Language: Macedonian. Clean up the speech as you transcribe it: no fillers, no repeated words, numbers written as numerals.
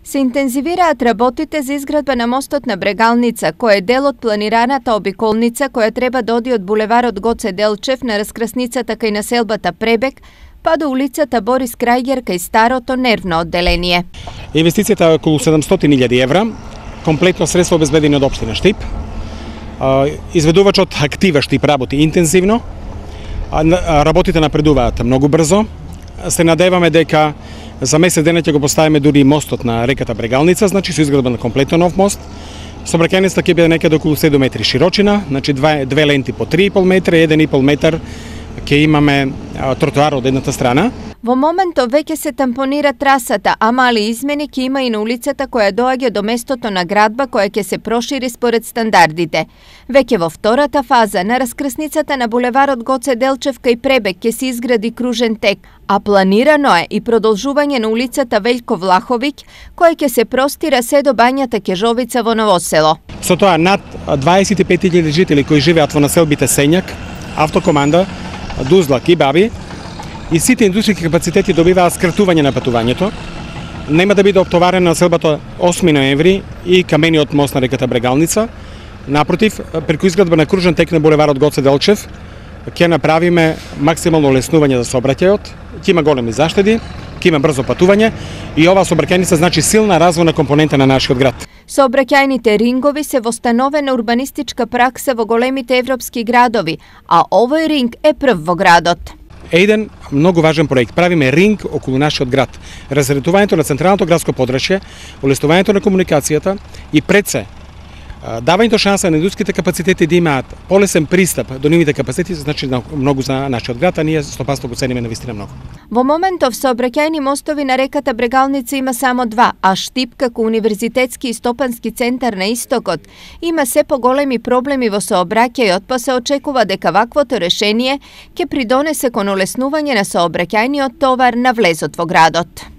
Се интензивираат работите за изградба на мостот на Брегалница, кој е дел од планираната обиколница која треба да оди од булеварот Гоце Делчев на раскрсницата кај населбата Пребег, па до улицата Борис Крајгер кај старото нервно одделение. Инвестицијата е околу 700.000 евра, комплетно средства обезбедени од општина Штип. Изведувачот актива Штип работи интензивно, работите напредуваат многу брзо. Се надеваме дека за месец дена ќе го поставиме дури и мостот на реката Брегалница, значи со изградба на комплетно нов мост. Сообраќајницата ќе биде некаде околу 7 метри широчина, значи две ленти по 3,5 метра и 1,5 метар ќе имаме тротоар од едната страна. Во моментов веќе се тампонира трасата, а мали измени ќе има и на улицата која доаѓа до местото на градба која ќе се прошири според стандардите. Веќе во втората фаза на раскрсницата на булеварот Гоце Делчев кај Пребег ќе се изгради кружен тек, а планирано е и продолжување на улицата Велјко Влаховиќ која ќе се простира се до бањата Кежовица во Новосело. Со тоа над 25.000 жители кои живеат во населбите Сењак, Автокоманда, Дузлак и Баби, и сите индустријски капацитети добиваат скратување на патувањето. Нема да биде оптоварена населбата 8 ноември и камениот мост на реката Брегалница. Напротив, преку изградба на кружен тек на булеварот Гоце Делчев ќе направиме максимално олеснување за сообраќајот, ќе има големи заштеди, ќе има брзо патување и оваа сообраќајница значи силна развојна компонента на нашиот град. Сообраќајните рингови се востановена урбанистичка пракса во големите европски градови, а овој ринг е прв во градот. Еден многу важен проект. Правиме ринг околу нашиот град. Разредувањето на централното градско подрачје, олеснувањето на комуникацијата и пред се давањето шанса на индустријските капацитети да имаат полесен пристап до нивните капацитети, значи многу за нашиот град, а ние 100% го цениме навистина многу. Во моментов сообраќајни мостови на реката Брегалница има само два, а Штип како универзитетски и стопански центар на истокот има се поголеми проблеми во сообраќајот, па се очекува дека ваквото решение ќе придонесе кон олеснување на сообраќајниот товар на влезот во градот.